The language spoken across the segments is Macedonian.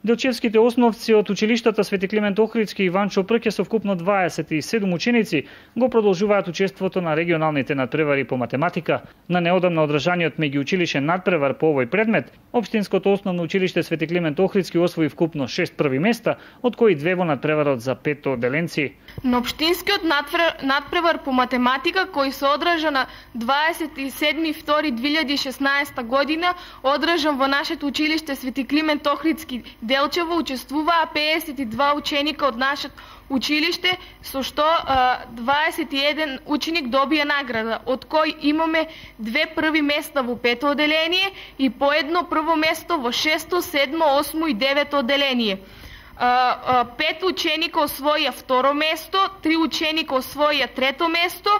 Делчевските основци од училиштата Свети Климент Охридски и Ванчо Прке со вкупно 27 ученици го продолжуваат учеството на регионалните надпревари по математика. На неодамна одржаниот меѓуучилишен надпревар по овој предмет, Општинското основно училиште Свети Климент Охридски освои вкупно 6 први места, од кои 2 во надпреварот за 5 оделенци. На Општинскиот надпревар по математика, кој се одржа на 27.2.2016 година, одржан во нашето училиште Свети Климент Охридски Делчево, учествуваа 52 ученика од нашето училиште, со што 21 ученик добија награда, од кој имаме 2 први места во 5 одделение и по едно прво место во 6, 7, 8 и 9 одделение. 5 ученика освоија второ место, 3 ученика освоија трето место,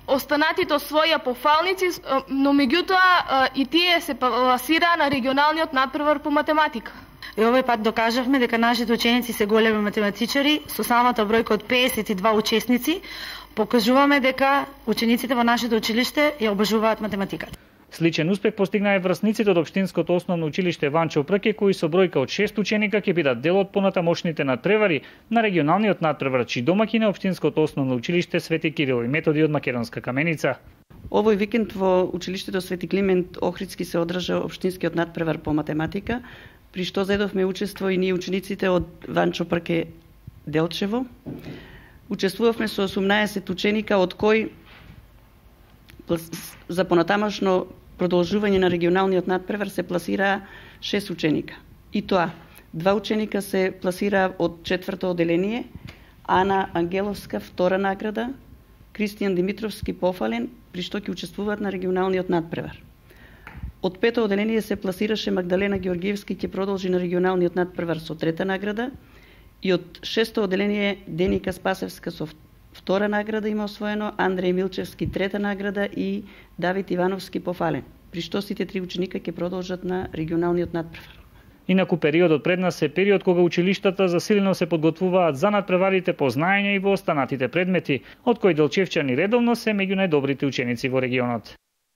останатите освоија пофалници, но меѓутоа и тие се пласираа на регионалниот надпревар по математика. И овој пат докажавме дека нашите ученици се големи математичари, со самата бројка од 52 учесници, покажуваме дека учениците во нашето училиште ја обожуваат математиката. Сличен успех постигнаа и врсниците од Општинското основно училиште Ванчо Прке, кои со бројка од 6 ученика ќе бидат дел од понатамошните надпревари на регионалниот надпревар, чии домаќин е Општинското основно училиште Свети Кирил и Методи од Македонска Каменица. Овој викенд во училиштето Свети Климент Охридски се одржа Општинскиот надпревар по математика, при што зедовме учество и ние учениците од Ванчо Прке Делчево. Учествувавме со 18 ученика, од кои за понатамошно продолжување на регионалниот надпревар се пласираа 6 ученика. И тоа, 2 ученика се пласираа од 4-то одделение, Ана Ангеловска втора награда, Кристијан Димитровски пофален, при што ќе учествуваат на регионалниот надпревар. Од 5-то одделение се пласираше Магдалена Георгиевски, ќе продолжи на регионалниот надпревар со 3-та награда, и од 6-то одделение Деника Спасевска со втора награда има освоено, Андреј Милчевски 3-та награда и Давид Ивановски пофален, при што сите 3 ученика ќе продолжат на регионалниот надпревар. Инаку периодот пред нас е период кога училиштата засилено се подготвуваат за надпреварите по знаење и во останатите предмети, од кои делчевчани редовно се меѓу најдобрите ученици во регионот.